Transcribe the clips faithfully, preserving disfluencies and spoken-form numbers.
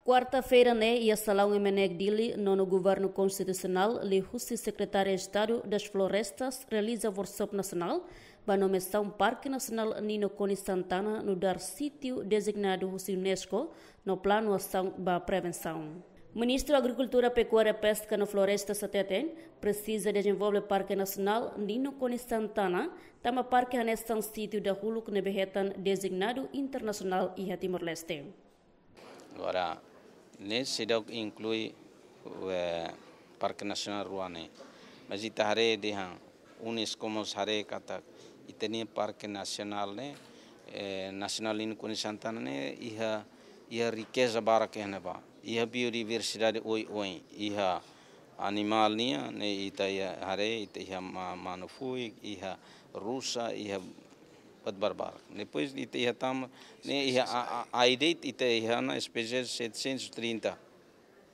Kuarta-feira ne'e, iha Salaun MNEK Dili, Nonu Governu Konstitusionál, liuhusi Sekretáriu Estadu das Florestas, realiza workshop nasionál ba nomeasaun Parke Nasionál Nino Konis Santana nu'udar sítiu dezignadu husi UNESCO no planu asaun ba prevensaun. Ministru Agrikultura, Pekuária, Peska no Florestas hateten, presiza dezenvolve Parke Nasionál Nino Konis Santana tanba parke hanesan sítiu dahuluk ne'ebé hetan dezignadu internasionál iha Timor-Leste. Agora, ne'e seidauk inklui, eh, Parke Nasionál rua ne'e. Mas ita haree dehan UNESCO mós haree katak ita-nia Parke Nasionál ne'e, eh, Nasionál Nino Konis Santana ne'e iha, iha rikeza barak iha ne'ebá. Iha biodiversidade oioin, iha animál nian, ne'e ita iha haree, ita iha ma-, manu-fuik, iha rusa, iha buat barbarak. Depois ita iha tama, ne'e iha a, a, ai de'it ita iha ona espésies setecentos e trinta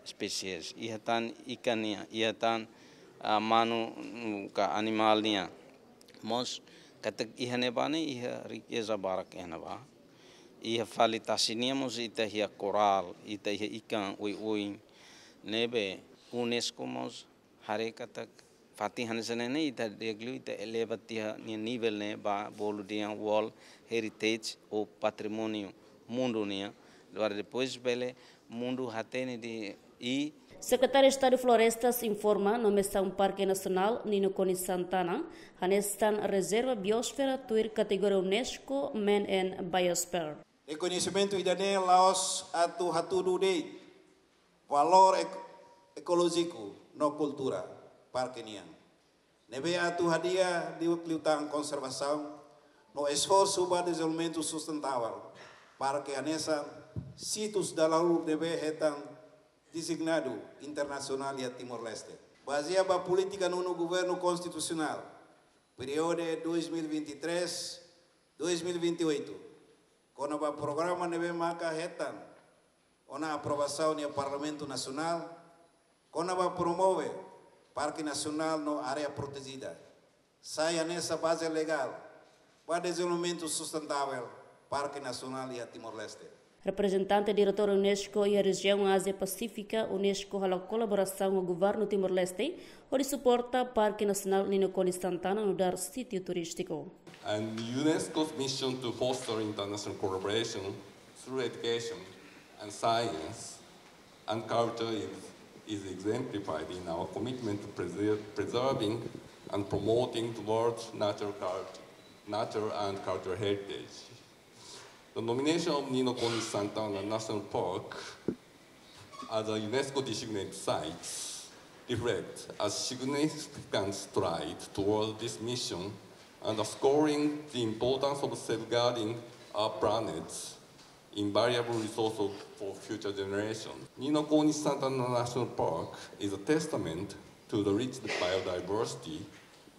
espésies. Iha tan ikan nian, iha tan, ah, manu, mm, ka animál nian. Mós katak iha ne'ebá ne'e iha rikeza barak iha ne'ebá. Iha fali tasi nian mós ita iha korál, ita iha ikan oioin. Ne'ebé UNESCO mós haree katak fatin hanesan ne'e ne'e ita di'ak liu ita eleva tiha nia nivel ne'e ba bolu dehan World Heritage ou patrimóniu mundu nian. Agora depois bele mundu hatene dehan i Sekretáriu Estadu Florestas informa nomeasaun Parke Nasionál Nino Konis Santana hanesan rezerva biosfera tuir kategoria UNESCO Man and Biosphere. Rekoñesimentu ida-ne'e la'ós atu hatudu de'it valór ek-, ekolójiku no kultura parke nian. Ne'ebé atu hadi'a liu, liután konservasaun no esforsu ba dezenvolvimentu sustentável parke hanesan sítius dahuluk ne'ebé hetan dezignadu internasionál iha Timor-Leste. Bazeia ba polítika Nonu Governu Konstitusionál, períodu dois mil e vinte e três, dois mil e vinte e oito, kona-ba programa ne'ebé maka hetan ona aprovasaun iha Parlamentu Nasionál, kona-ba promove Parke Nasionál no Área Protejida, sai hanesan baze legál ba dezenvolvimentu sustentável Parke Nasionál iha Timor-Leste. Reprezentante Diretór UNESCO iha rejiaun Ázia Pasífika, UNESCO halo kolaborasaun ho Governu Timor-Leste hodi suporta Parke Nasionál Nino Konis Santana nu'udar sítiu turístiku. And UNESCO's mission to foster international collaboration through education and science and culture is, is exemplified in our commitment to preser-, preserving and promoting the world's natural cult-, natural and cultural heritage. The nomination of Nino Konis Santana National Park as a UNESCO designated site reflects a significant stride toward this mission, underscoring the importance of safeguarding our planet's invaluable resources for future generations. Nino Konis Santana National Park is a testament to the rich biodiversity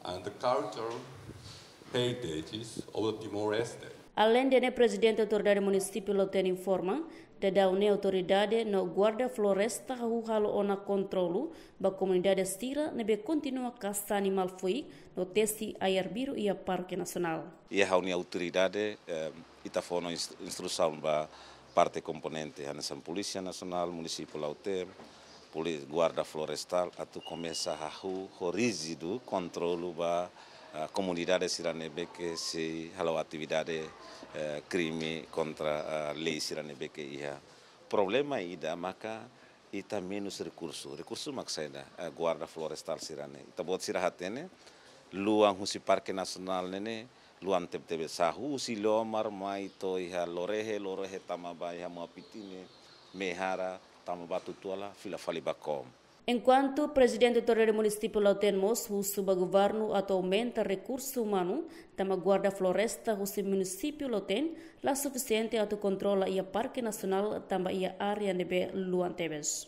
and the cultural heritages of Timor-Leste. Aleinde ne'e, Prezidente Autoridade Munisípiu Lautém informa, daudaun ne'e autoridade no guarda floresta hahú halo ona kontrolu ba komunidade sira ne'ebé kontinua kasa animál fuik no tesi ai-arbiru iha Parke Nasionál. Iha ha'u-nia autoridade, eh, ita fó ona inst-, instrusaun ba parte komponente, hanesan Polísia Nasionál, Munisípiu Lautém, poli-, Guarda Florestál, atu komesa hahú ho ríjidu kontrolu ba, ah, komunidade sira ne'ebé ke sei halo atividade, eh, krime kontra, ah, lei sira ne'ebé ke iha. Problema ida maka ita menus rekursu. Rekursu mak saida, eh, guarda florestál sira-ne'e. Ita-boot sira hatene, luan husi Parke Nasionál ne'e ne'e, luan tebetebes, husi Lomar mai to'o iha Lorehe, Lorehe tama ba iha Muapitine, Mehara, tama ba Tutuala, fila fali ba Kom. Enkuantu Prezidente Autoridade Munisípiu Lautém mós husu ba governu atu aumenta rekursu umanu, tanba guarda floresta husi Munisípiu Lautém la sufisiente atu kontrola iha Parke Nasionál tanba iha área ne'ebé luan tebes.